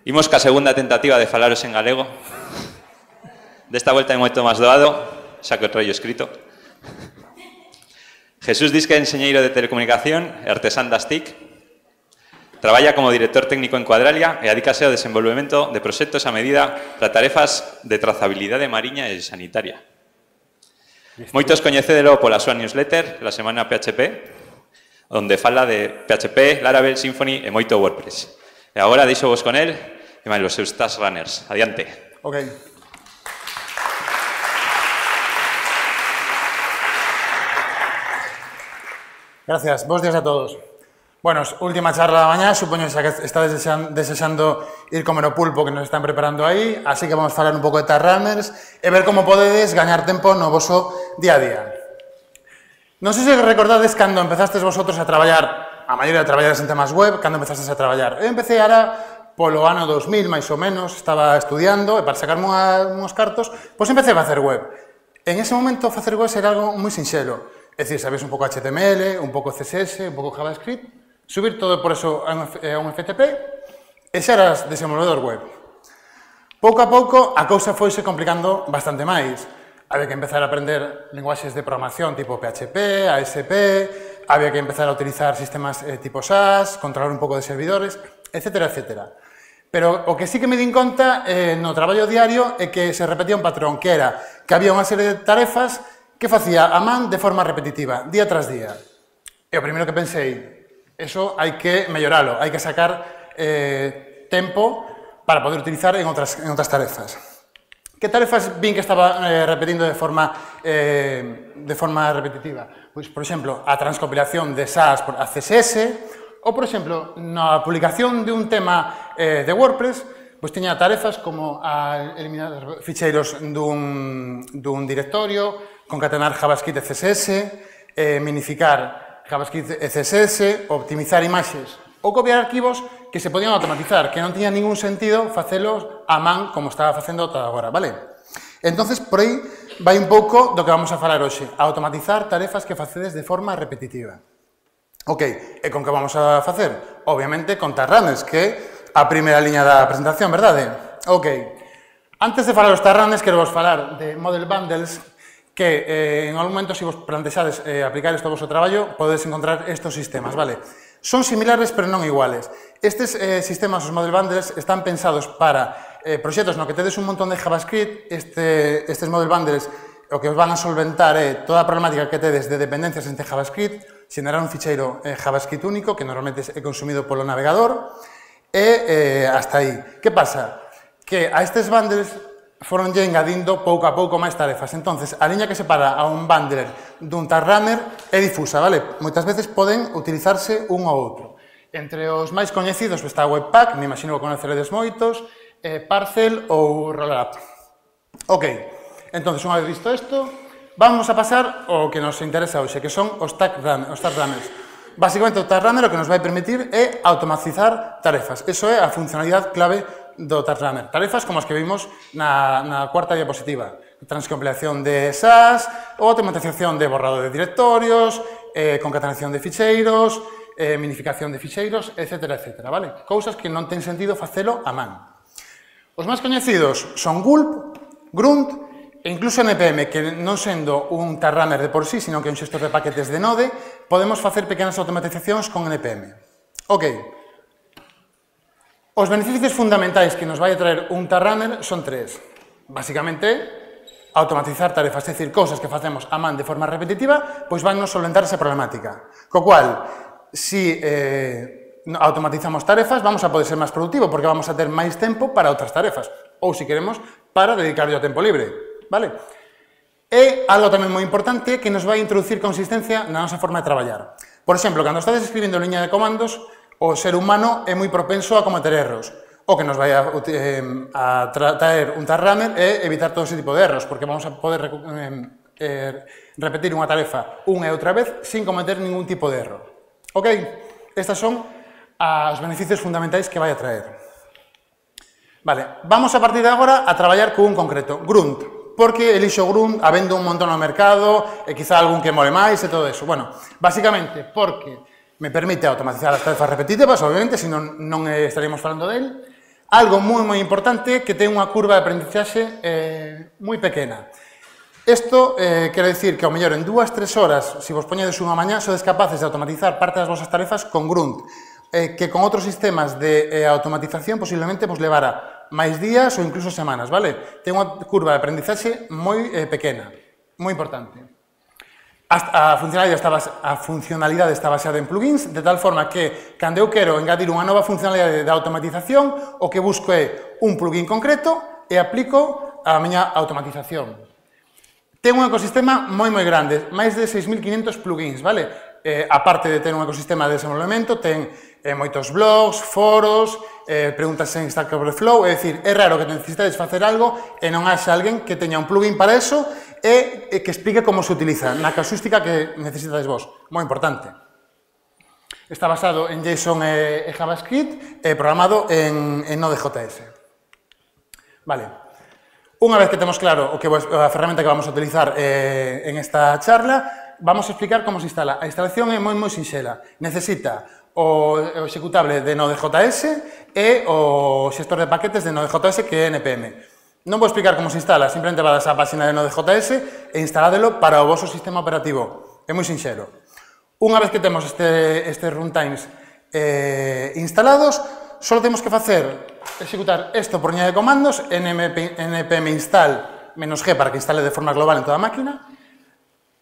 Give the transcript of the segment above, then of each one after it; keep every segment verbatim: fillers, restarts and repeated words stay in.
Imos ca segunda tentativa de falaros en galego. Desta volta é moito máis doado, xa que o traio escrito. Jesús Disque é enxeñeiro de telecomunicación e artesán das T I C. Traballa como director técnico en Cuadralia e adícase ao desenvolvemento de proxectos a medida para tarefas de trazabilidade mariña e sanitaria. Moitos coñecedelo pola súa newsletter, la semana P H P, onde fala de P H P, Laravel, Symfony e moito WordPress. E agora deixo vos con el e máis os seus task runners. Adiante. Ok. Gracias. Bos días a todos. Bueno, última charla da mañá, supoño que está desexando ir comer o pulpo que nos están preparando aí, así que vamos a falar un pouco de task runners e ver como podedes gañar tempo no voso día a día. Non sei se recordades cando empezastes vosotros a traballar, a maioría de traballadores en temas web, cando empezastes a traballar. Eu empecé ara polo ano dos mil, máis ou menos, estaba estudiando e para sacarme unhos cartos, pois empecé a facer web. En ese momento facer web era algo moi sinxelo, é dicir, sabes un pouco H T M L, un pouco C S S, un pouco JavaScript, subir todo por eso a un F T P e xa eras desenvolvedor web. Pouco a pouco a cousa foise complicando bastante máis. Había que empezar a aprender linguaxes de programación tipo P H P, A S P, había que empezar a utilizar sistemas eh, tipo S A S, controlar un pouco de servidores, etcétera, etcétera. Pero o que sí que me din conta eh, no traballo diario é que se repetía un patrón, que era que había unha serie de tarefas que facía a man de forma repetitiva, día tras día. E o primeiro que pensei, eso hai que melloralo, hai que sacar eh, tempo para poder utilizar en outras, en outras tarefas. Que tarefas vin que estaba eh, repetindo de forma, eh, de forma repetitiva? Pois, por exemplo, a transcompilación de S A S por a C S S, ou, por exemplo, na publicación de un tema eh, de WordPress, pois tiña tarefas como a eliminar ficheiros dun, dun directorio, concatenar JavaScript e C S S, eh, minificar JavaScript e C S S, optimizar imaxes ou copiar arquivos que se podían automatizar, que non tiña ningún sentido facelos a man como estaba facendo todo agora, vale? Entonces, por aí vai un pouco do que vamos a falar hoxe, a automatizar tarefas que facedes de forma repetitiva. Ok, e con que vamos a facer? Obviamente con task runners, que é a primeira liña da presentación, verdade? Ok, antes de falar os task runners, quero vos falar de model bundles, que eh, en algún momento, se vos plantexades eh, aplicar isto ao vosso traballo, podedes encontrar estes sistemas, vale? Son similares, pero non iguales. Estes eh, sistemas, os model bundles, están pensados para eh, proxectos no que tedes un montón de JavaScript. Este, estes model bundles o que os van a solventar é toda a problemática que tedes de dependencias entre JavaScript, xenerar un ficheiro eh, JavaScript único, que normalmente é consumido polo navegador, e eh, hasta aí. Que pasa? Que a estes bundles foronlle engadindo pouco a pouco máis tarefas. Entonces, a liña que separa a un bundler dun task runner é difusa, vale? Moitas veces poden utilizarse un ou outro. Entre os máis coñecidos está Webpack, me imagino que conoceredes moitos, eh, Parcel ou Rollup. Ok, entonces, unha vez visto isto, vamos a pasar ao que nos interesa hoxe, que son os task runners. Básicamente, o task runner o que nos vai permitir é automatizar tarefas. Eso é a funcionalidade clave do task runner. Tarefas como as que vimos na, na cuarta diapositiva. Transcompilación de S A S, automatización de borrado de directorios, eh, concatenación de ficheiros, eh, minificación de ficheiros, etcétera, etcétera, vale? Cousas que non ten sentido facelo a man. Os máis coñecidos son Gulp, Grunt e incluso N P M, que non sendo un task runner de por sí, sino que é un xestor de paquetes de Node, podemos facer pequenas automatizacións con N P M. Ok. Os beneficios fundamentais que nos vai a traer un task runner son tres. Básicamente, automatizar tarefas, é dicir, cousas que facemos a man de forma repetitiva, pois van nos solventar esa problemática. Co cual, si eh, automatizamos tarefas, vamos a poder ser máis productivo, porque vamos a ter máis tempo para outras tarefas. Ou, se queremos, para dedicarlle ao tempo libre. Vale? E algo tamén moi importante que nos vai introducir consistencia na nosa forma de traballar. Por exemplo, cando estades escribindo liña de comandos, o ser humano é moi propenso a cometer erros. O que nos vai a, eh, a traer un task runner é evitar todo ese tipo de erros, porque vamos a poder eh, eh, repetir unha tarefa unha e outra vez sin cometer ningún tipo de erro. Ok? Estas son os beneficios fundamentais que vai a traer. Vale, vamos a partir de agora a traballar con un concreto, Grunt. Porque elixo Grunt, habendo un montón no mercado, e quizá algún que mole máis e todo eso. Bueno, basicamente, porque me permite automatizar as tarefas repetitivas, obviamente, senón non estaríamos falando del. Algo moi moi importante que ten unha curva de aprendizaxe eh, moi pequena. Isto eh, quere dicir que ao mellor en dúas, tres horas, se vos poñedes unha mañá, sodes capaces de automatizar parte das vosas tarefas con Grunt, eh, que con outros sistemas de eh, automatización posiblemente vos levara máis días ou incluso semanas, vale? Ten unha curva de aprendizaxe moi eh, pequena, moi importante. A funcionalidade, está base, a funcionalidade está baseada en plugins, de tal forma que, cando eu quero engadir unha nova funcionalidade de automatización, o que busco é un plugin concreto e aplico a miña automatización. Ten un ecosistema moi moi grande, máis de seis mil quinhentos plugins, vale? Eh, aparte de ter un ecosistema de desenvolvemento, ten eh, moitos blogs, foros, eh, preguntas en Stack Overflow, é dicir, é raro que necesitades facer algo e non haxa alguén que teña un plugin para eso e que explique como se utiliza, na casuística que necesitades vos. Moi importante. Está basado en JSON e JavaScript e programado en, en Node.js. Vale. Unha vez que temos claro o que a ferramenta que vamos a utilizar eh, en esta charla, vamos a explicar como se instala. A instalación é moi moi sinxela. Necesita o, o executable de Node.js e o xestor de paquetes de Node.js que é N P M. Non vou explicar como se instala, simplemente vades á página de Node.js e instaládelo para o vosso sistema operativo. É moi sinxelo. Unha vez que temos este, estes runtimes eh, instalados, só temos que facer, executar isto por liña de comandos, npm install -g para que instale de forma global en toda a máquina,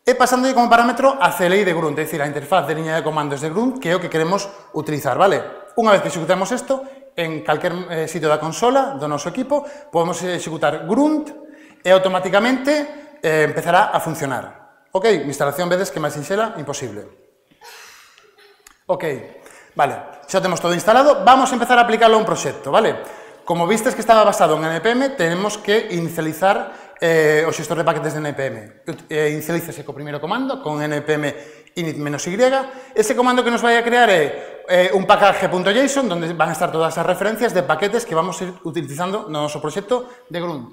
e pasando como parámetro a C L I de Grunt, é dicir, a interfaz de liña de comandos de Grunt, que é o que queremos utilizar, vale? Unha vez que executamos isto, en calquer eh, sitio da consola do noso equipo, podemos executar Grunt e automáticamente eh, empezará a funcionar. Ok, instalación vedes que máis sinxela, imposible. Ok, vale, xa temos todo instalado, vamos a empezar a aplicarlo a un proxecto, vale? Como vistes que estaba basado en N P M, tenemos que inicializar eh, o xestor de paquetes de N P M. Eh, inicialízase co primeiro comando, con npm init-y. Ese comando que nos vai a crear é eh, un package.json, donde van a estar todas as referencias de paquetes que vamos a ir utilizando no noso proxecto de Grunt.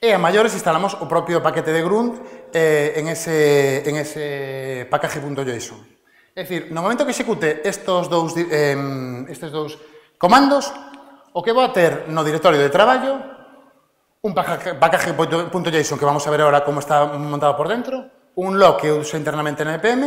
E a maiores instalamos o propio paquete de Grunt eh, en ese, en ese package.json. É dicir, no momento que execute estos dous, eh, estes dous comandos, o que vou a ter no directorio de traballo, un package.json que vamos a ver agora como está montado por dentro, un log que uso internamente en N P M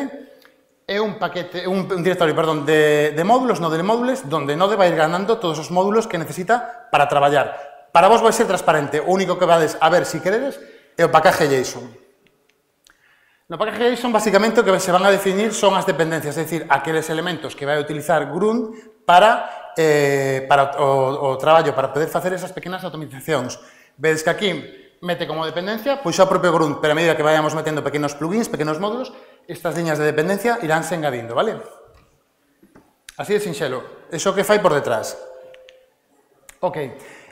e un paquete, un, un directorio, perdón, de, de módulos, Node de módulos, donde Node vai ir ganando todos os módulos que necesita para traballar. Para vos vai ser transparente, o único que vades a ver, si queredes, é o package JSON. No package JSON, basicamente, o que se van a definir son as dependencias, é dicir, aqueles elementos que vai a utilizar Grunt para, eh, para o, o traballo, para poder facer esas pequenas automatizacións. Vedes que aquí mete como dependencia, pois xa o propio Grunt, pero a medida que vayamos metendo pequenos plugins, pequenos módulos, estas liñas de dependencia iránse engadindo, vale? Así de sinxelo. Iso que fai por detrás. Ok.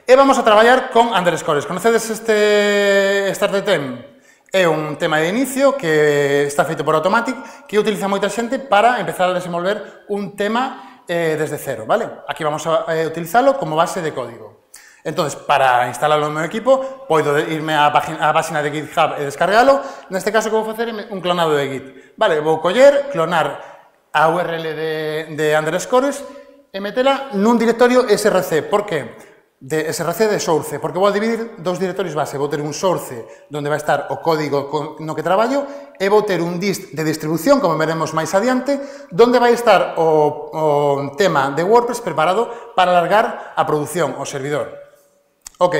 E vamos a traballar con underscores. Conocedes este StartTem? É un tema de inicio que está feito por Automatic, que utiliza moita xente para empezar a desenvolver un tema eh, desde cero, vale? Aquí vamos a eh, utilizalo como base de código. Entonces, para instalarlo no meu equipo, podo irme á página, á página de GitHub e descargalo. Neste caso, que vou facer é un clonado de Git. Vale, vou coller, clonar a U R L de, de underscores e metela nun directorio S R C. Por que? De S R C de source, porque vou dividir dous directorios base. Vou ter un source onde vai estar o código no que traballo e vou ter un dist de distribución, como veremos máis adiante, onde vai estar o, o tema de WordPress preparado para alargar a produción, o servidor. Ok.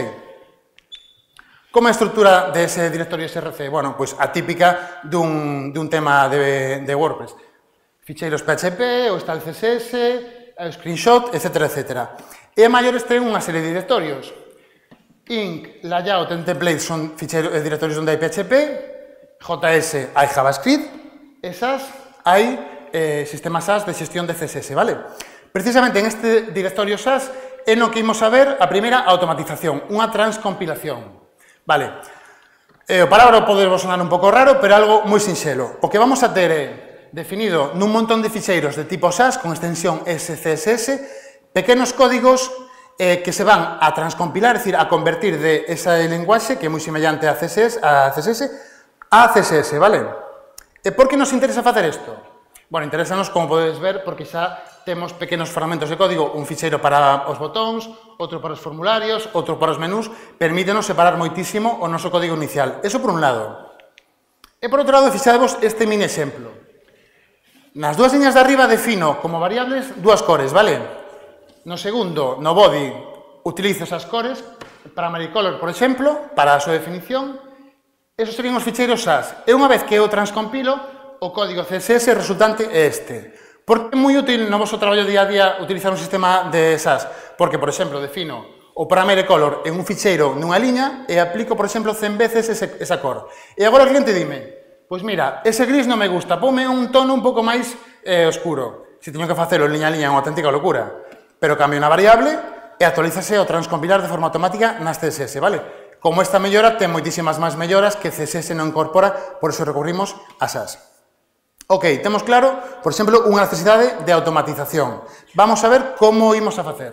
Como é a estrutura dese directorio S R C? Bueno, pois a típica dun, dun tema de, de WordPress. Ficheiros P H P, o está el C S S, o screenshot, etcétera, etcétera. E a maiores ten unha serie de directorios. Inc, layout e template son ficheiros, directorios onde hai P H P, J S hai JavaScript, e S A S hai eh, sistemas S A S de xestión de C S S, vale? Precisamente en este directorio S A S é no que imos a ver a primeira automatización, unha transcompilación. Vale, eh, o palabra pode vos sonar un pouco raro, pero algo moi sinxelo. O que vamos a ter é definido nun montón de ficheiros de tipo S A S con extensión S C S S, pequenos códigos eh, que se van a transcompilar, é dicir, a convertir de ese lenguaxe, que é moi semellante a C S S, a C S S, a C S S, vale? E por que nos interesa facer isto? Bueno, interesanos, como podedes ver, porque xa temos pequenos fragmentos de código, un ficheiro para os botóns, outro para os formularios, outro para os menús, permítenos separar moitísimo o noso código inicial. Eso por un lado. E por outro lado, fixadevos este mini exemplo. Nas dúas liñas de arriba defino como variables dúas cores, vale? No segundo, no body, utilizo esas cores para Maricolor, por exemplo, para a súa definición. Esos serían os ficheiros S A S. E unha vez que eu transcompilo, o código C S S resultante é este. Por que é moi útil no vosso traballo día a día utilizar un sistema de S A S? Porque, por exemplo, defino o parameter color en un ficheiro nunha liña e aplico, por exemplo, cen veces ese, esa cor. E agora o cliente dime, pois mira, ese gris non me gusta, ponme un tono un pouco máis eh, oscuro. Se teño que facelo en liña a liña é unha auténtica locura. Pero cambio unha variable e actualízase ao transcompilar de forma automática nas C S S, vale? Como esta mellora ten moitísimas máis melloras que C S S non incorpora, por iso recurrimos a S A S. Ok, temos claro, por exemplo, unha necesidade de automatización. Vamos a ver como imos a facer.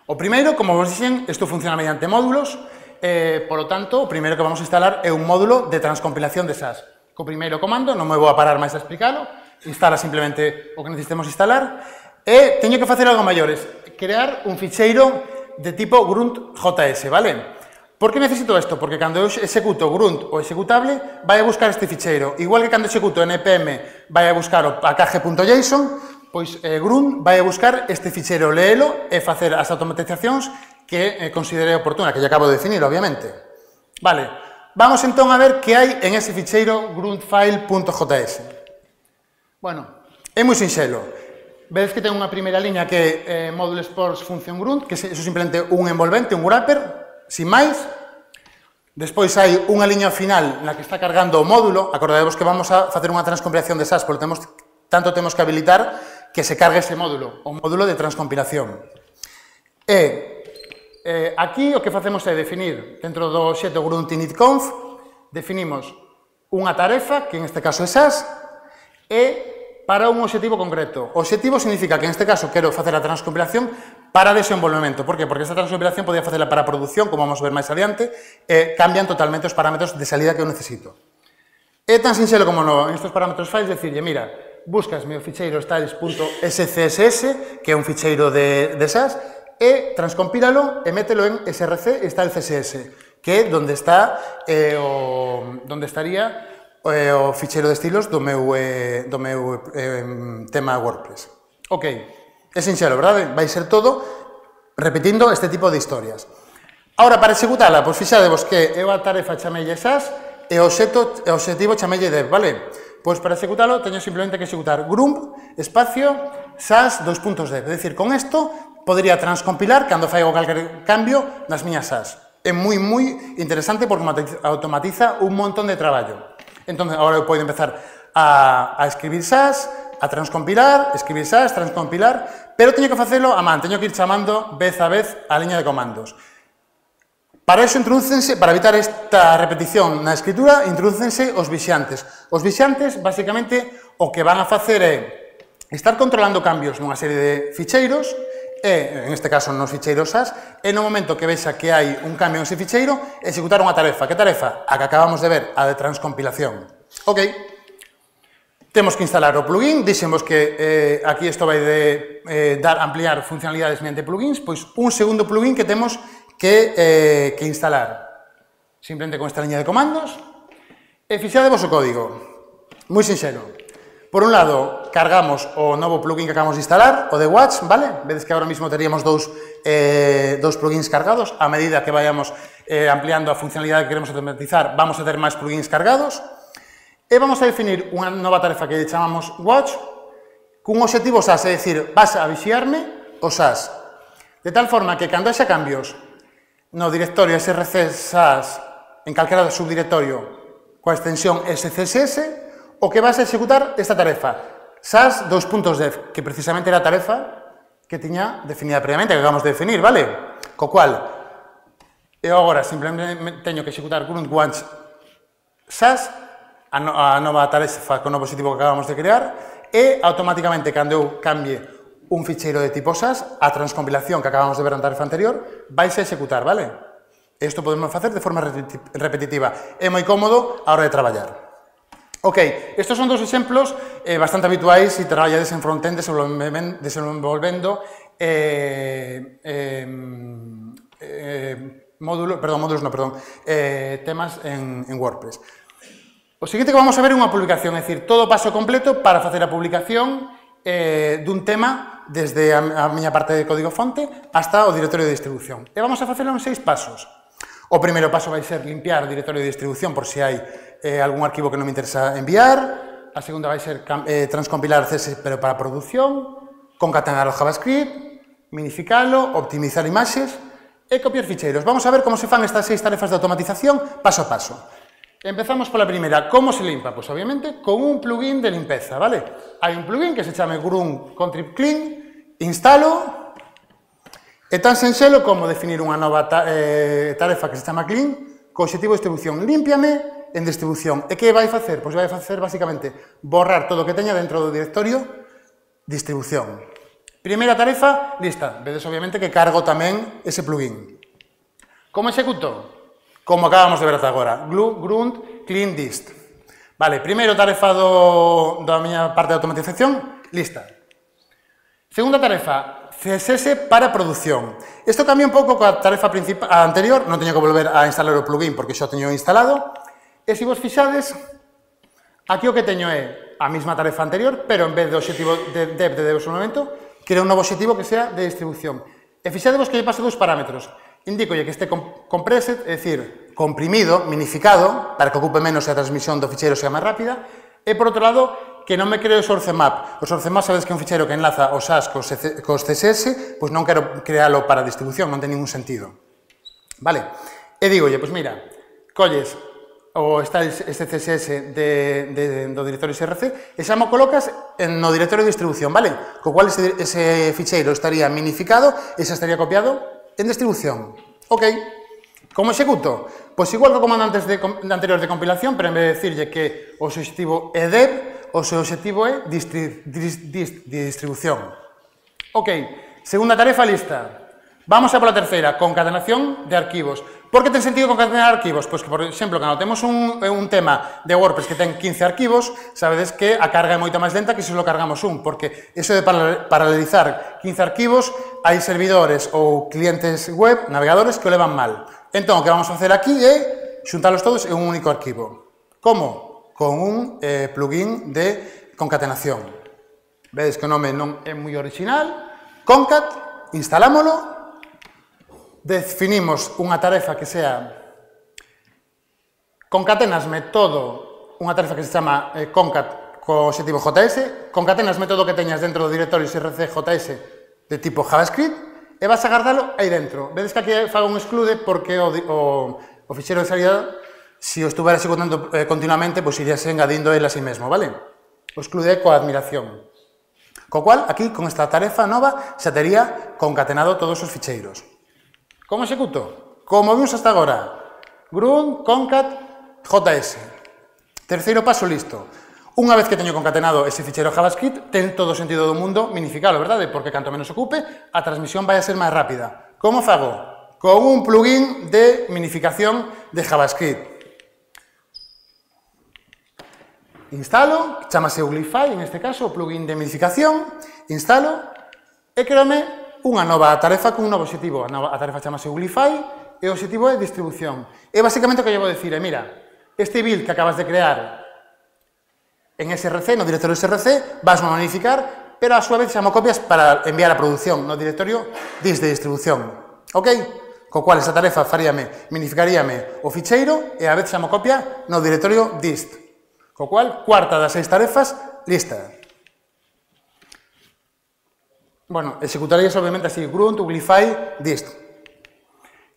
O primeiro, como vos dixen, isto funciona mediante módulos, eh, por lo tanto, o primeiro que vamos a instalar é un módulo de transcompilación de S A S. Co primeiro comando, non me vou a parar máis a explicarlo, instala simplemente o que necesitemos instalar, e teño que facer algo maiores, crear un ficheiro de tipo grunt.js, vale? Por que necesito isto? Porque cando eu executo grunt o executable, vai a buscar este ficheiro. Igual que cando executo npm vai a buscar o package.json, pois eh, grunt vai a buscar este ficheiro, leelo e facer as automatizacións que eh, considere oportuna, que lle acabo de definir, obviamente. Vale, vamos entón a ver que hai en ese ficheiro gruntfile.js. Bueno, é moi sinxelo. Vedes que ten unha primeira liña que é eh, module sports function grunt, que é simplemente un envolvente, un wrapper, sin máis. Despois hai unha liña final na que está cargando o módulo. Acordadevos que vamos a facer unha transcompilación de S A S, polo temos, tanto temos que habilitar que se cargue ese módulo, o módulo de transcompilación. E eh, aquí o que facemos é definir, dentro do obxecto grunt initconf, definimos unha tarefa, que en este caso é S A S, e para un obxectivo concreto. O obxectivo significa que, en este caso, quero facer a transcompilación para desenvolvemento. Por que? Porque esta transcompilación podía facela para produción, como vamos a ver máis adiante, e cambian totalmente os parámetros de salida que eu necesito. É tan sinxelo como no, en estes parámetros files, decirlle, mira, buscas meu ficheiro styles.scss, que é un ficheiro de, de S A S, e transcompílalo e mételo en src style.css, que é onde está eh, o, onde estaría o ficheiro de estilos do meu, eh, do meu eh, tema WordPress. Ok, é sinxelo, verdade? Vai ser todo repetindo este tipo de historias. Ahora, para executala, pois fixadevos que eu a tarefa chamelle S A S e o obxectivo chamelle dev, vale? Pois para executalo teño simplemente que executar grunt espacio S A S dos puntos dev. É dicir, con isto podría transcompilar cando faigo calquer cambio nas miñas S A S. É moi, moi interesante porque automatiza un montón de traballo. Entón, agora eu podo empezar a, a escribir S A S, a transcompilar, escribir S A S, transcompilar, pero teño que facelo a man, teño que ir chamando vez a vez a liña de comandos. Para iso introdúcense, para evitar esta repetición na escritura, introdúcense os vixantes. Os vixantes, basicamente, o que van a facer é estar controlando cambios nunha serie de ficheiros, e, en este caso, nos ficheiros S A S, e no momento que vexa que hai un cambio nese ficheiro, executar unha tarefa. Que tarefa? A que acabamos de ver, a de transcompilación. Ok. Temos que instalar o plugin. Dixemos que eh, aquí isto vai de eh, dar, ampliar funcionalidades mediante plugins, pois un segundo plugin que temos que, eh, que instalar. Simplemente con esta liña de comandos. E fixadevos o código. Moi sinxelo. Por un lado, cargamos o novo plugin que acabamos de instalar, o de Watch, vale? Vedes que agora mismo teríamos dous, eh, dous plugins cargados. A medida que vayamos eh, ampliando a funcionalidade que queremos automatizar, vamos a ter máis plugins cargados. E vamos a definir unha nova tarefa que chamamos Watch, cun obxectivo S A S, é dicir, vas a vixiarme o S A S. De tal forma que cando haxa cambios no directorio src S A S, en calquera subdirectorio, coa extensión S C S S, o que vas a executar esta tarefa, S A S dos puntos dev, que precisamente era a tarefa que tiña definida previamente, que acabamos de definir, vale? Co cual, eu agora simplemente teño que executar grunt watch S A S, a, no, a nova tarefa con o novo obxectivo que acabamos de crear, e automáticamente, cando eu cambie un ficheiro de tipo S A S, a transcompilación que acabamos de ver na tarefa anterior, vais a executar, vale? Isto podemos facer de forma repetitiva. É moi cómodo a hora de traballar. Ok, estos son dos exemplos eh, bastante habituais se traballades en frontend desenvolvendo eh, eh, eh, módulos, perdón, módulos no, perdón, eh, temas en, en WordPress. O seguinte que vamos a ver é unha publicación, é dicir, todo o paso completo para facer a publicación eh, dun tema desde a, a miña parte de código fonte hasta o directorio de distribución. E vamos a facelo en seis pasos. O primeiro paso vai ser limpiar o directorio de distribución por se hai eh, algún arquivo que non me interesa enviar. A segunda vai ser eh, transcompilar C S S pero para produción, concatenar o JavaScript, minificalo, optimizar imaxes e copiar ficheiros. Vamos a ver como se fan estas seis tarefas de automatización paso a paso. Empezamos pola primeira. Como se limpa? Pois, obviamente, con un plugin de limpeza, vale? Hai un plugin que se chama Grunt Contrib Clean, instalo, é tan senxelo como definir unha nova ta eh, tarefa que se chama Clean, co objetivo de distribución. Límpiame en distribución. E que vai facer? Pois vai facer, basicamente, borrar todo o que teña dentro do directorio distribución. Primeira tarefa, lista. Vedes, obviamente, que cargo tamén ese plugin. Como executo? Como acabamos de ver ata agora, Grunt Clean Dist. Vale, primeiro tarefa do, da miña parte de automatización, lista. Segunda tarefa, C S S para produción. Isto cambia un pouco coa tarefa principal anterior, non teño que volver a instalar o plugin porque xa o teño instalado. E se vos fixades, aquí o que teño é a mesma tarefa anterior, pero en vez de objetivo de dev de desenvolvemento, quero un novo objetivo que sea de distribución. E fixadevos que lle paso dous parámetros. Indicolle que este compressed, é dicir, comprimido, minificado, para que ocupe menos e a transmisión do ficheiro sea máis rápida, e, por outro lado, que non me creo o source map. O source map, sabes que é un ficheiro que enlaza os A S cos C S S, pois non quero crealo para distribución, non ten ningún sentido. Vale? E digolle, pois mira, colles o está este C S S de, de, do directorio S R C e xa mo colocas en, no directorio de distribución, vale? Co cual ese, ese ficheiro estaría minificado e xa estaría copiado en distribución. Ok. Como executo? Pois igual que o comando antes de, de anterior de compilación, pero en vez de decirlle que o seu objetivo é dev, o seu objetivo é distri, dist, dist, distribución. Ok. Segunda tarefa lista. Vamos a pola terceira, concatenación de arquivos. Por que ten sentido concatenar arquivos? Pois que, por exemplo, cando temos un, un tema de WordPress que ten quince arquivos, sabedes que a carga é moito máis lenta que se lo cargamos un, porque eso de paralelizar quince arquivos, hai servidores ou clientes web, navegadores, que o levan mal. Entón, o que vamos a facer aquí é xuntalos todos en un único arquivo. Como? Con un eh, plugin de concatenación. Vedes que o nome non é moi original. Concat, instalámolo. Definimos unha tarefa que sea concatenasme todo, unha tarefa que se chama eh, concat co objetivo J S, concatenasme todo o que teñas dentro do directorio S R C J S de tipo JavaScript e vas a guardalo aí dentro. Vedes que aquí fago un exclude porque o, o, o fixeiro de salida, se o estuvera executando eh, continuamente, pois pues iríase engadindo el a sí mesmo, vale? O exclude coa admiración. Co cual, aquí, con esta tarefa nova, xa tería concatenado todos os ficheiros. Como executo? Como vimos hasta agora, grunt concat js. Terceiro paso, listo. Unha vez que teño concatenado ese ficheiro JavaScript, ten todo o sentido do mundo minificalo, verdade? Porque canto menos ocupe, a transmisión vai a ser máis rápida. Como fago? Con un plugin de minificación de JavaScript. Instalo, chamase Uglify, en este caso, o plugin de minificación, instalo, e creome unha nova tarefa con un novo objetivo. A, nova, a tarefa chamase Uglify e o objetivo é distribución. E basicamente o que eu vou dicir é, mira, este build que acabas de crear en S R C, no directorio S R C, vas a modificar, pero a súa vez xa mo copias para enviar a produción no directorio dist de distribución. Ok? Co cual, esa tarefa faríame, minificaríame o ficheiro e a vez xa mo copia no directorio dist. Co cual, cuarta das seis tarefas, lista. Bueno, executarías obviamente así, grunt, uglify, dist.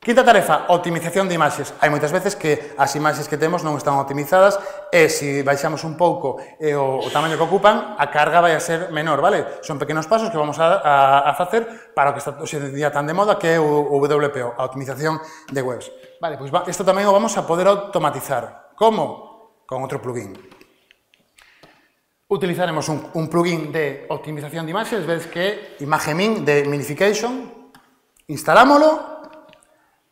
Quinta tarefa, optimización de imaxes. Hai moitas veces que as imaxes que temos non están optimizadas e se baixamos un pouco e o, o tamaño que ocupan, a carga vai a ser menor, vale? Son pequenos pasos que vamos a, a, a facer para o que está hoxe en día tan de moda que é o, o W P O, a optimización de webs. Vale, pois pues isto tamén o vamos a poder automatizar. Como? Con outro plugin. Utilizaremos un, un plugin de optimización de imaxes, vedes que é imagemin de minification, instalámoslo,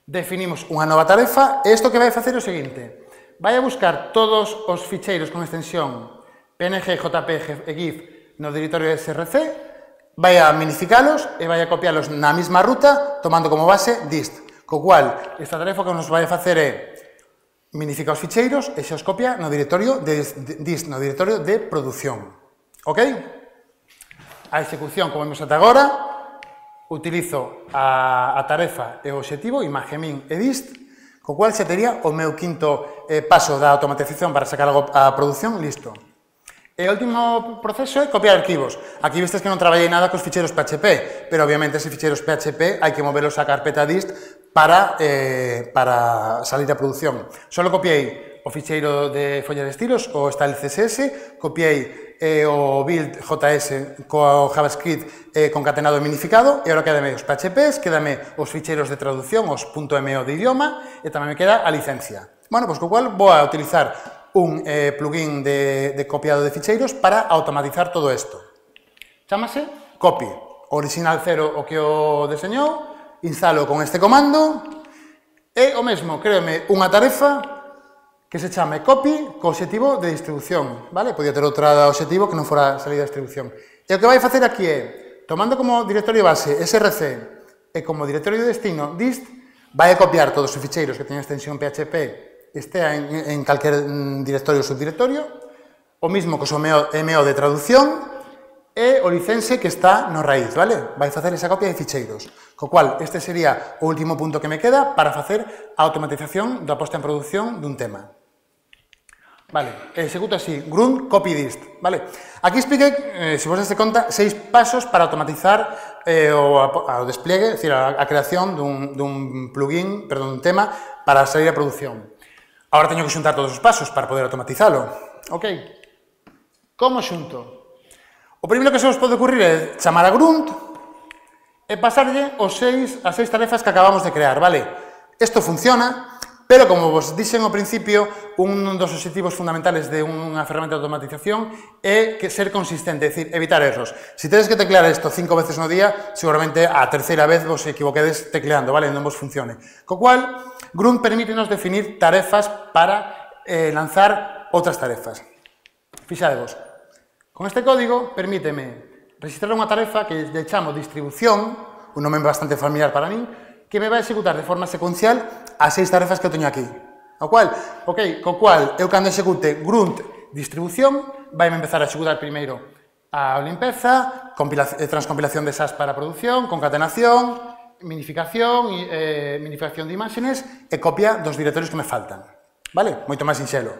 definimos unha nova tarefa e isto que vai facer é o seguinte, vai a buscar todos os ficheiros con extensión P N G, J P G e GIF no directorio S R C, vai a minificalos e vai a copialos na mesma ruta tomando como base dist. Co cual, esta tarefa que nos vai a facer é minifica os ficheiros e xa os copia no directorio de dist, no directorio de produción. Ok? A execución, como vemos ata agora, utilizo a, a tarefa e o obxectivo, imagen min e dist, co cual xa tería o meu quinto eh, paso da automatización para sacar algo a produción listo. E o último proceso é copiar arquivos. Aquí vistes que non traballei nada cos ficheiros P H P, pero obviamente ese ficheiros P H P hai que movelos á carpeta dist para, eh, para salir a produción. Solo copiei o ficheiro de folla de estilos, o style C S S, copiei eh, o build J S co JavaScript eh, concatenado e minificado, e agora quedame os P H Ps, quedame os ficheiros de traducción, os .mo de idioma, e tamén me queda a licencia. Bueno, pois co cual vou a utilizar un eh, plugin de, de copiado de ficheiros para automatizar todo isto. Chámase copy. Original cero o que o deseñou, instalo con este comando e o mesmo, créeme unha tarefa que se chame copy co obxectivo de distribución, vale? Podía ter outra obxectivo que non fora salida de distribución. E o que vai facer aquí é, tomando como directorio base S R C e como directorio de destino dist, vai a copiar todos os ficheiros que teñen extensión P H P estea en, en calquer directorio ou subdirectorio, o mismo que o M O de traducción e o license que está no raíz, vale? Vai facer esa copia de ficheiros. Co cual, este sería o último punto que me queda para facer a automatización da posta en produción dun tema. Vale, executo así, grunt copy dist, vale? Aquí expliquei, eh, se vos deste conta, seis pasos para automatizar eh, o, o despliegue, é dicir, a, a creación dun, dun plugin, perdón, dun tema para salir a produción. Agora teño que xuntar todos os pasos para poder automatizalo. Ok? Como xunto? O primeiro que se vos pode ocurrir é chamar a grunt e pasarlle os seis, as seis tarefas que acabamos de crear, vale? Isto funciona, pero como vos dixen ao principio, un dos obxectivos fundamentales de unha ferramenta de automatización é que ser consistente, é dicir, evitar erros. Se tedes que teclear isto cinco veces no día, seguramente a terceira vez vos equivoquedes tecleando, vale? Non vos funcione. Co cual, grunt permítenos definir tarefas para eh, lanzar outras tarefas. Fixadevos, con este código permíteme registrar unha tarefa que lle chamo distribución, un nome bastante familiar para min, que me vai a executar de forma secuencial as seis tarefas que eu teño aquí. O cual, ok, co cual, eu cando execute grunt distribución, vai me empezar a executar primeiro a limpeza, transcompilación de S A S para produción, concatenación, minificación, eh, minificación de imágenes e copia dos directorios que me faltan. Vale? Moito máis sinxelo.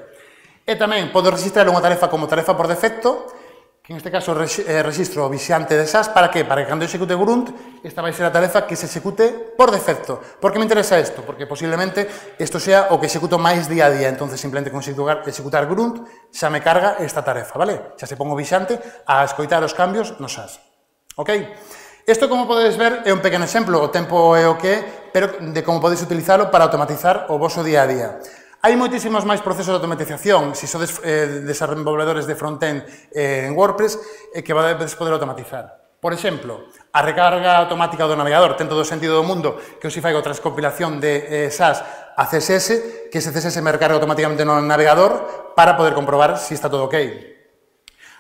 E tamén podo registrar unha tarefa como tarefa por defecto, que en este caso eh, registro o vixante de S A S, para que? Para que cando execute grunt, esta vai ser a tarefa que se execute por defecto. Por que me interesa isto? Porque posiblemente isto sea o que executo máis día a día, entonces simplemente con executar, executar grunt xa me carga esta tarefa, vale? Xa se pongo vixante a escoitar os cambios no S A S. Ok? Isto, como podedes ver, é un pequeno exemplo, o tempo é o que é, pero de como podedes utilizalo para automatizar o voso día a día. Hai moitísimos máis procesos de automatización, se sodes eh, desenvolvedores de frontend eh, en WordPress, eh, que podedes poder automatizar. Por exemplo, a recarga automática do navegador, ten todo o sentido do mundo que eu si faigo transcompilación de eh, S A S a C S S, que ese C S S me recarga automáticamente no navegador para poder comprobar se si está todo ok.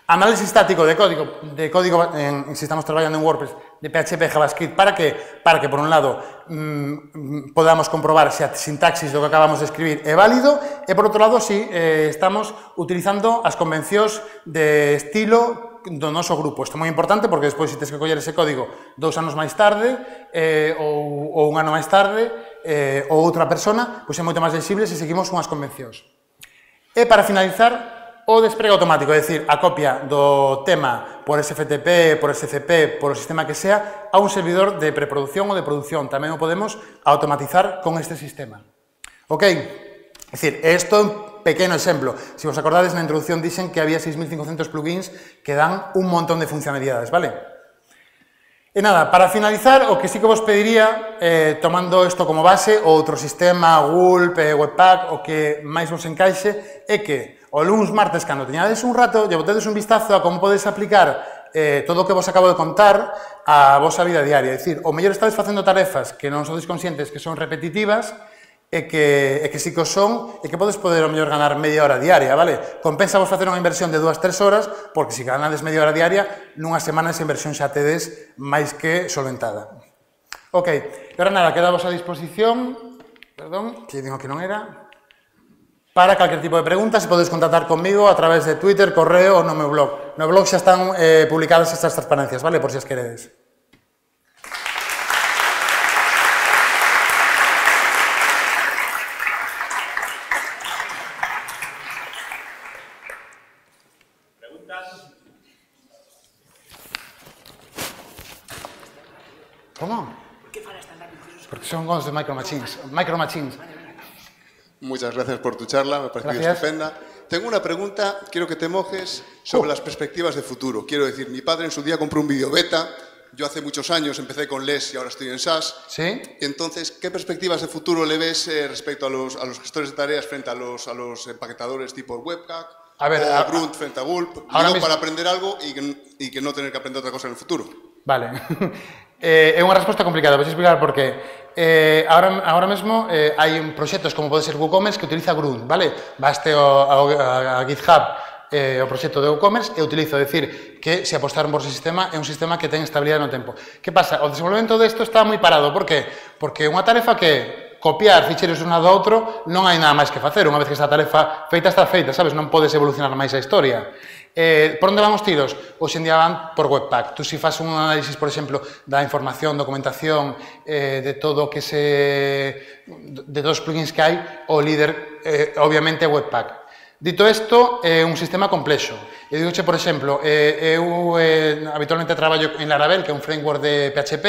Análisis estático de código, de código en, si estamos traballando en WordPress, de P H P, JavaScript, para que, para que por un lado, mmm, podamos comprobar se a sintaxis do que acabamos de escribir é válido, e por outro lado, si eh, estamos utilizando as convencións de estilo do noso grupo. Isto é moi importante porque despois, se tens que coller ese código dous anos máis tarde, eh, ou, ou un ano máis tarde, eh, ou outra persona, pois é moito máis sensible se seguimos unhas convencións. E para finalizar, o despregue automático, é dicir, a copia do tema por S F T P, por S C P, por o sistema que sea, a un servidor de preproducción ou de produción. Tamén o podemos automatizar con este sistema. Ok? É dicir, isto é un pequeno exemplo. Se vos acordades, na introducción dixen que había seis mil cincocentos plugins que dan un montón de funcionalidades, vale? E nada, para finalizar, o que sí que vos pediría, eh, tomando isto como base, outro sistema, Gulp, eh, Webpack, o que máis vos encaixe, é que o luns, martes, cando teñades un rato, lle botedes un vistazo a como podes aplicar eh, todo o que vos acabo de contar á vosa vida diaria. É dicir, o mellor estades facendo tarefas que non sodes conscientes que son repetitivas e que, e que sí que o son, e que podes poder ao mellor ganar media hora diaria, vale? Compensa vos facer unha inversión de dúas, tres horas, porque se ganades media hora diaria, nunha semana esa inversión xa tedes máis que solventada. Ok, e ahora nada, queda vos a disposición, perdón, que digo que non era, para calquer tipo de preguntas, se podes contactar conmigo a través de Twitter, correo ou no meu blog. No blog xa están eh, publicadas estas transparencias, vale? Por si as queredes. ¿Cómo? ¿Por qué falas tan rápido? Porque son cosas de Micro Machines. Micro Machines. Muchas gracias por tu charla, me ha parecido Gracias. estupenda. Tengo una pregunta, quiero que te mojes sobre Uh. las perspectivas de futuro. Quiero decir, mi padre en su día compró un video beta, yo hace muchos años empecé con L E S y ahora estoy en S A S. ¿Sí? Entonces, ¿qué perspectivas de futuro le ves eh, respecto a los, a los gestores de tareas frente a los, a los empaquetadores tipo Webpack? A ver, o a- Grunt frente a Gulp, ahora digo, mismo- para aprender algo y que, y que no tener que aprender otra cosa en el futuro. Vale. eh, é unha resposta complicada, vou explicar por qué. Eh, ahora, ahora mesmo eh, hai un proxectos como pode ser WooCommerce que utiliza Grunt, vale? Baste ao, ao, a, a GitHub eh, o proxecto de WooCommerce e utilizo, decir, que se apostaron por ese sistema é un sistema que ten estabilidade no tempo. Que pasa? O desenvolvemento desto está moi parado, por qué? Porque unha tarefa que copiar ficheiros de un lado a outro non hai nada máis que facer, unha vez que esta tarefa feita está feita, sabes? Non podes evolucionar máis a historia. Eh, por onde van os tiros? Hoxe en día van por Webpack. Tú si fas un análisis, por exemplo, da información, documentación, eh, de todo o que se... de todos os plugins que hai, o líder, eh, obviamente, é Webpack. Dito isto, é un sistema complexo. Eu digo, por exemplo, eh, eu eh, habitualmente traballo en Laravel, que é un framework de P H P,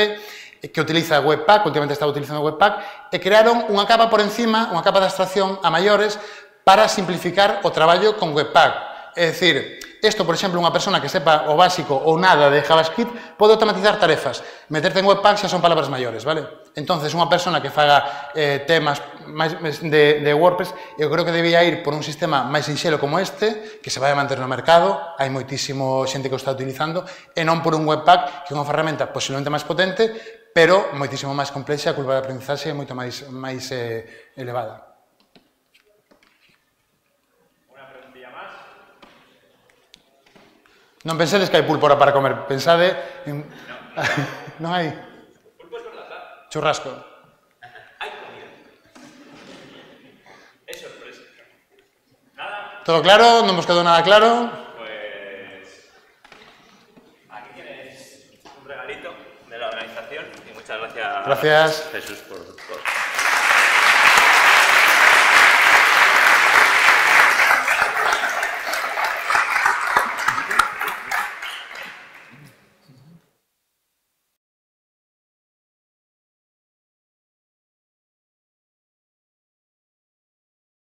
que utiliza Webpack, últimamente estaba utilizando Webpack, e crearon unha capa por encima, unha capa de abstracción a maiores para simplificar o traballo con Webpack. É dicir, isto, por exemplo, unha persona que sepa o básico ou nada de JavaScript pode automatizar tarefas. Meterte en Webpack xa son palabras maiores, vale? Entonces, unha persona que faga eh, temas máis de, de WordPress, eu creo que debía ir por un sistema máis sinxelo como este, que se vai a manter no mercado, hai moitísimo xente que o está utilizando, e non por un Webpack, que é unha ferramenta posiblemente máis potente, pero moitísimo máis complexa, a curva de aprendizaxe é moito máis, máis eh, elevada. Non pensedes que hai pulpo para comer, pensade en... Non hai? Pulpo es verdad. Churrasco. Hay comida. Es sorpresa. Nada, Todo claro? Non vos quedou nada claro? pues aquí tienes un regalito de la organización y muchas gracias, Gracias. Jesús, por, por